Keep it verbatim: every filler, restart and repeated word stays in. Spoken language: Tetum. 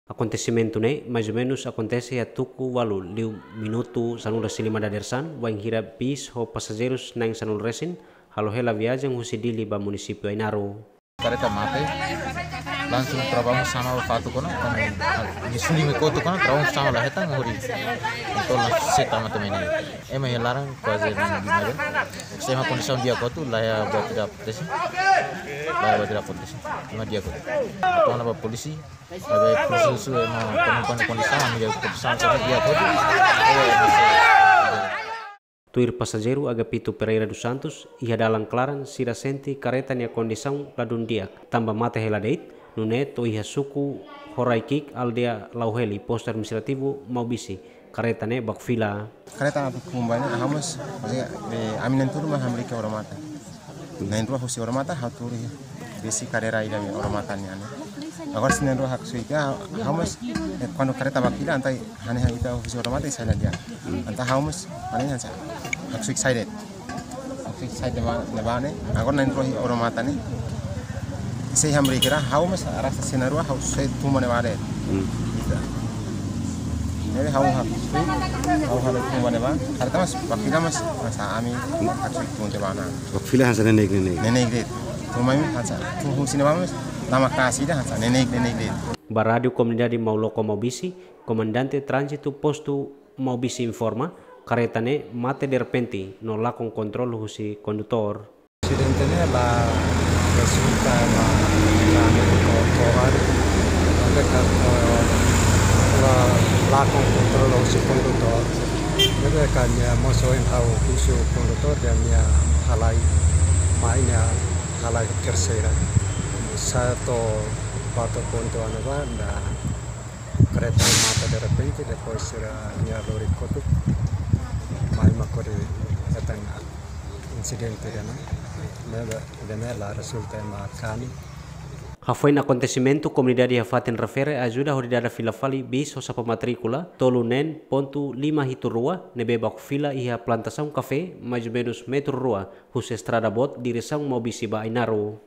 Akontesimentu ne'e mais ou menus akontese iha tuku ualu liu minutu sanulu-resin-lima dadeer-saan, wainhira bis ho pasajeirus na'in sanulu-resin halo hela viajen husi Dili ba munisípiu Ainaro. Kareta mate, langsung trabalho sama fatuk ona, ami suli mai kotuk ona, trabalho sama la hetan hodi. Entaun langsung seta mate mene. Ema iha laran kuaze na'in lima jam. Se ema kondisaun di'ak hotu, la iha buat ida akontese. La iha buat ida akontese. Ema di'ak hotu. Entaun ba polísia, ba polísia husu ema penumpang kondisaun, ami iha kondisaun sama di'ak hotu. Tuir pasajeiru Agapito Pereira dos Santos, iha dalan klaran sira sente kareta nia kondisaun ladún di'ak, tanba mate hela de'it, nune'e to'o iha suku Horai-Ki'ik, aldeia Lauheli, postu administrativu Maubisse, kareta ne'e baku fila. Kareta atu kumbai ne'e, ha'u mós, eh, ami na'in-tolu mak hamriik iha Oro-Mata. Na'in-rua husi Oro-Mata, ha'u tuur iha besi kadeira ida iha Oro-Mata nian ne'e. Agora se na'in-rua haksoit iha, ha'u mós, eh, kuandu kareta baku fila, entaun hanesan ita husi Oro-Mata, sai la di'ak. Entaun ha'u mós, hanesan hanesan. Haksoit sai de'it. Haksoit sai de'it ba, de'it ba ne'e. Agora na'in-rua iha Oro-Mata ne'e. Sei hamriik hira, ha'u mós, arrasta se na'in-rua, ha'u sei tun ba ne'ebá de'it. Hmm. Ita. Ne'ebé ha'u haksoit, ha'u hamriik tun ba ne'ebá. Kareta mós, baku fila mós, hanesan ami, haksoit tun tiha ona. Baku fila hanesan neineik, neineik. Neineik de'it. Tun mai hanesan, tun husi ne'ebá mós, lama kasi ida hanesan, neineik, neineik de'it. Ba Rádiu Komunidade Mauloko Maubisse, Komandante Tránzitu Postu Maubisse informa, kareta ne'e mate derrepente, no lakon kontrolu husi kondutór. Asidente ne'e la rezulta ba, ba, ba, ba, ba, ba, lakon kontrolu husi kondutór. Ne'ebé ami mós ohin ha'u husu kondutór dehan nia halai, mai nia halai terseira. Satu, kuatru pontu anu ba, nia kareta mate derrepente, depois sira nia lori kotuk, mai mak hodi hetan insidente ida-ne'e, ne'ebé, ida-ne'e la rezulta ema kani. Hafoin akontesimentu, komunidade iha fatin refere ajuda hodi dada fila fali bis ho xapa matríkula tolu neen pontu lima hitu rua, ne'ebé baku fila iha plantasaun kafé, mais ou menus metru rua husi estrada boot diresaun Maubisse ba Ainaro.